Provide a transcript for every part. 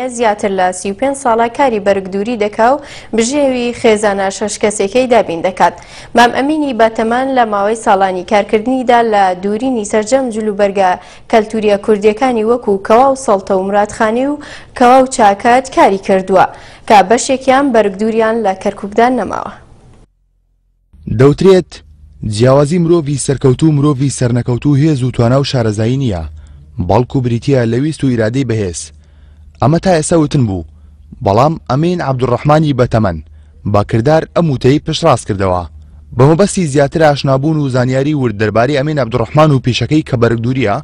زیاتر لە 35 ساڵە کاری بەرگدووری دەکا و بژێوی خێزانە شەش کەسێکەی دابین دەکات. مام ئەمینی بەتەمەن لە ماوەی ساڵانی کارکردنیدا لە دوورینی سەرجەم جلوبەرگە کەلتووریە کوردیەکانی وەکو کەوا و سەڵتە و مرادخانی و کەوا و چاکەت کاری کردووە کە بەشێکیان بەرگدووریان لە کەرکوکدا نەماوە. دەوترێت، جیاوازی مرۆڤی سەرکەوتوو و مرۆڤی سەرنەکەوتوو هێز و توانا و شارەزایی نییە، بەڵکو بریتییە لە ویست و ئیرادەی بەهێز. ئەمە تا ئێستا وتن بوو، بەڵام ئەمین عەبدولڕەحمانی بەتەمەن، بە کردار ئەم وتەی پشتڕاست کردەوە. بە مەبەستی زیاتر ئاشنابوون و زانیاری ورد دەربارەی ئەمین عەبدولڕەحمان و پیشەکەی کە بەرگدوورییە،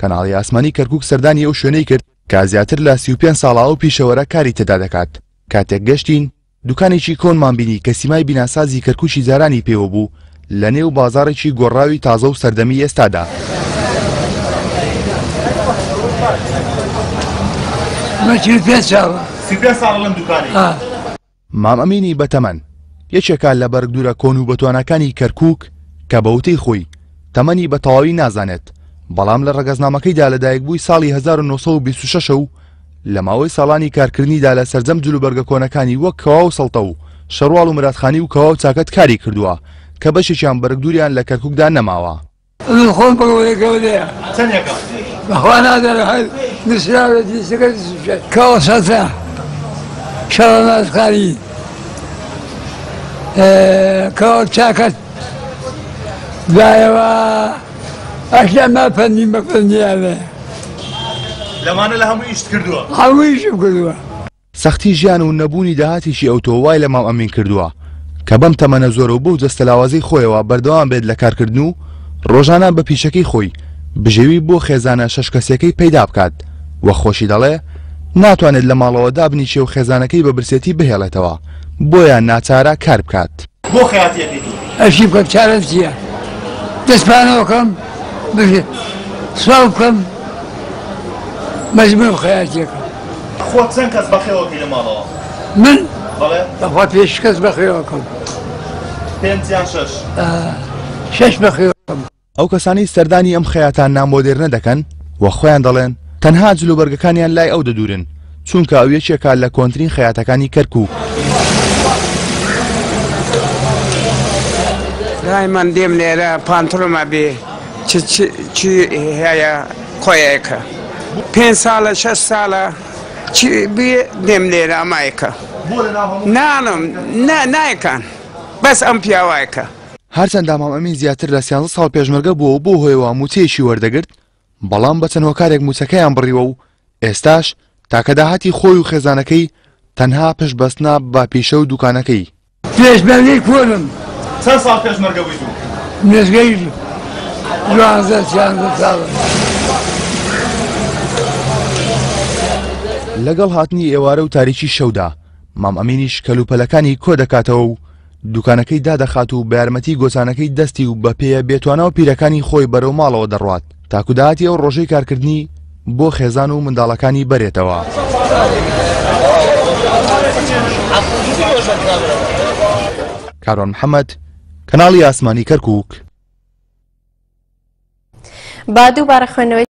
کەناڵی ئاسمانی کەرکووک سەردانی ئەو شوێنەی کرد کە زیاتر لە 35 ساڵە ئەو پیشەوەرە کاری تێدا دەکات. کاتێک گەشتین، دوکانێکی کۆنمان بینی کە سیمای بیناسازی کەرکوکی جارانی پێوە بوو لە نێو بازاڕێکی گۆڕاوی تازە و سەردەمی ئێستادا. من 45 ساڵە. 35 ساڵە لەم دوکانەی. مام ئەمینی بەتەمەن یەکێکە لە بەرگدوورە کۆن و بەتواناکانی کەرکوک کە بە وتەی خۆی تەمەنی بە تەواوی نازانێت بەڵام لە ڕەگەزنامەکەیدا لەدایکبووی ساڵی 1926 و لە ماوەی ساڵانی کارکردنیدا لە سەرجەم جلوبەرگە کۆنەکانی وەک کەوا و سەڵتە و شەرواڵ و مرادخانی و کەوا و چاکەت کاری کردووە کە بەشێکیان بەرگدووریان لە کەرکوکدا نەماوە. من خۆم بڕۆیە گەورەیە. چەندێکە؟ بەخوا نازانم هەر نووسراوە جنسەکە کەوا سەڵتە شەڕە نازخانی کەوا چاکەت دوایەوە ئەشتا ما فەنی بە فەنیانە. لەمانە لە هەموو ئیشت کردووە؟ هەموو ئیشم کردووە. سەختی ژیان و نەبوونی داهاتێکی ئەوتۆ وای لە مام ئەمین کردووە کە بەم تەمەنە زۆرە و بەو جەستە لاوازەی خۆیەوە بەردەوام بێت لە کارکردن و ڕۆژانە بە پیشەکەی خۆی بژێوی بۆ خێزانە شەش کەسیەکەی پەیدا بکات و خۆشی دەڵێ ناتوانێت لە ماڵەوە دابنیشێ و خێزانەکەی بە برسێتی بهێڵێتەوە بۆیە ناچارە کار بکات. بۆ خەیاتی ئەکەی تۆ؟ ئەشی بکەم چارەم چیە دەست پانەوە کەم بژێ سواو بکەم مەجبورم خەیاتیەکەم. خۆت چەند کەس بەخێوەکەی لە ماڵەوە؟ من؟ بەڵێ. بەخوا پێنج کەس بەخێوەکەم. پێنج یان شەش؟ شەش بەخێوەکەم. ئەو کەسانەی سەردانی ئەم خەیاتە نامۆدێرنە دەکەن و خۆیان دەڵێن تەنها جلوبەرگەکانیان لای ئەو دەدورن چونکە ئەو یەکێکە لە کۆنترین خەیاتەکانی کەرکوک. دایمەن دێم لێرە پانترۆمە بێ چ چ هەیە خۆیەکە پێ ساڵە شەش ساڵە چ بێ دێم لێرە ئەمایەکە نانم نایەکان بەس ئەم پیاوایەکە. هەرچەندە مام ئەمین زیاتر لە سیانزە ساڵ پێشمەرگە بووە و بەو هۆیەوە مووچەیەکی وەردەگرت، بەڵام بە چەند هۆکارێک مووچەکەیان بڕیوە و ئێستاش تاکە داهاتی خۆی و خێزانەکەی تەنها پشت بەستنە بە پیشە و دوکانەکەی. پێشمەرگەی کۆنم. چەند ساڵ پێشمەرگە بوویت و؟ نزیکەی دوانزە سیانزە ساڵە. لەگەڵ هاتنی ئێوارە و تاریکی شەودا، مام ئەمینیش کەلوپەلەکانی کۆدەکاتەوە و دوکانەکەی دادەخات و بە یارمەتی گۆچانەکەی دەستی و بە پێیە بێتوانا و پیرەکانی خۆی بەرەو ماڵەوە دەڕوات تاکو داهاتی ئەو ڕۆژەی کارکردنی بۆ خێزان و منداڵەکانی بەرێتەوە. کاروان محەمەد، کەناڵی ئاسمانی کەرکوک. با دووبارە خوێندنەوەی.